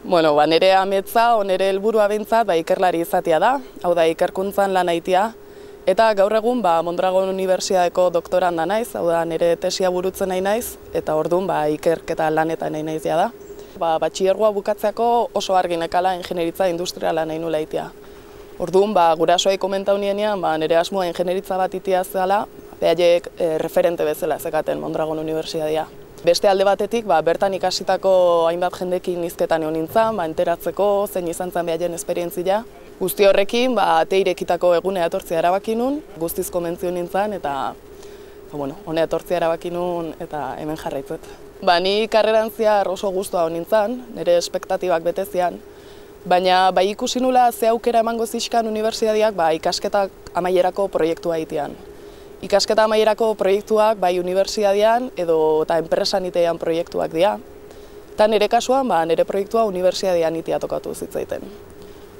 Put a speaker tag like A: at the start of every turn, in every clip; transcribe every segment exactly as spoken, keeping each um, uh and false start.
A: Bueno, ba, nire ametza, o nire helburua behintzat, ba, ikerlari izatea da, hau da, ikerkuntzan lan aitea, eta gaur egun ba, Mondragon Unibertsitateko doktoranda naiz, hau da, nire tesia burutzen nahi naiz, eta orduan ba, ikerketa lanetan nahi naizia da. Ba, batxilergoa bukatzeako oso argi nekala ingenieritza industriala nahi nula itea. Orduan, ba, gurasoai komentau nienean, ba, nire asmoa ingenieritza bat itea zela, behaiek e, referente bezala zekaten Mondragon Unibertsitatea. Beste alde batetik, ba, bertan ikasitako hainbat jendekin hizketan egon nintzen, ba, enteratzeko, zein izan zen behaien esperientzia. Guzti horrekin, ba, ate irekitako egunea etortzea erabaki nun, guztiz komentzio nintzen, eta ba, bueno, honea etortzea erabaki nun, eta hemen jarraitzet. Ba, ni karreran zehar oso gustua hon nintzen, nire espektatibak betezian, baina bai ikusi nula ze aukera emango zizkan unibertsitateak ba, ikasketak amaierako proiektua egitean. Ikasketa amaierako proiektuak bai unibertsitatean edo eta enpresan itean proiektuak dira. Eta nire kasuan, ba, nire proiektua unibertsitatean itea tokatu zitzaiten.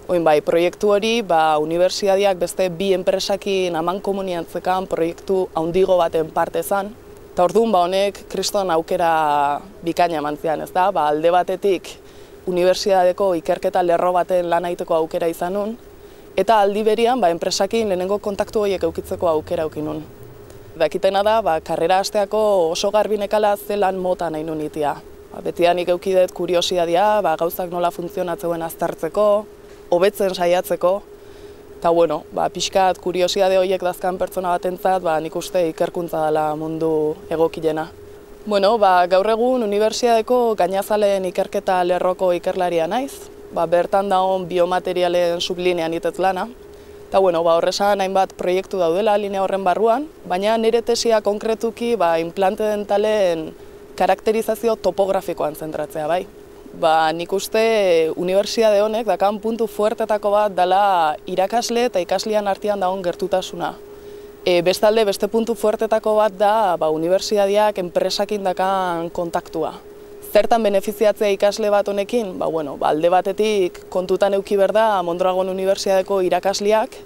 A: Oin bai, proiektu hori, ba, unibertsitateak beste bi enpresakin aman komuniantzekan proiektu handigo baten parte zan. Eta orduan, ba, honek kriston aukera bikaina eman zian, ez da? Ba, alde batetik unibertsitateko ikerketa lerro baten lan egiteko aukera izan nun, eta aldi berian, ba, enpresakin lehenengo kontaktu horiek eukitzeko aukera eukin nun. Dakitena da, ba, karrera hasteako oso garbi nekala zelan mota nahi nun itea. Ba, betidanik eukidet kuriosidadia, ba, gauzak nola funtzionatzeuen aztertzeko, hobetzen saiatzeko, eta bueno, ba, pixkat kuriosidade horiek dazkan pertsona batentzat, ba, nik uste ikerkuntza dela mundu egokilena. Bueno, ba, gaur egun unibertsitateko gainazaleen ikerketa lerroko ikerlaria naiz, ba, bertan dagoen biomaterialen sublinean itez lana. Eta bueno, ba, horrezan hainbat proiektu daudela linea horren barruan, baina nire tesia konkretuki ba, implante dentalen karakterizazio topografikoan zentratzea bai. Ba, nik uste unibertsitate honek dakan puntu fuertetako bat dela irakasle eta ikaslean artean dagoen gertutasuna. E, bestalde, beste puntu fuertetako bat da ba, unibertsitateak enpresakin dakan kontaktua. Zertan benefiziatzea ikasle bat honekin? Ba, bueno, ba, alde batetik kontutan euki berda Mondragon Unibertsitateko irakasleak,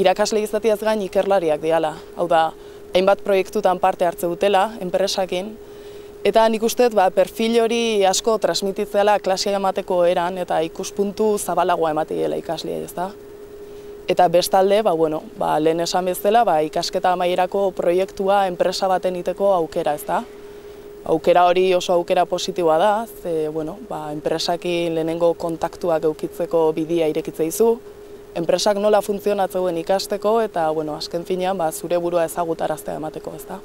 A: irakasle izatiaz gain ikerlariak diala. Hau da, hainbat proiektutan parte hartze dutela, enpresakin, eta nik uste ba, perfil hori asko transmititzeala klasia emateko eran eta ikuspuntu zabalagoa emateela ikasleai, ez da? Eta bestalde, ba, bueno, ba, lehen esan bezala, ba, ikasketa amaierako proiektua enpresa baten iteko aukera, ez da? Aukera hori oso aukera positiboa da, ze, bueno, ba, enpresakin lehenengo kontaktuak eukitzeko bidea irekitze dizu, enpresak nola funtzionatzeuen ikasteko eta, bueno, azken finean, ba, zure burua ezagutaraztea emateko, ez da?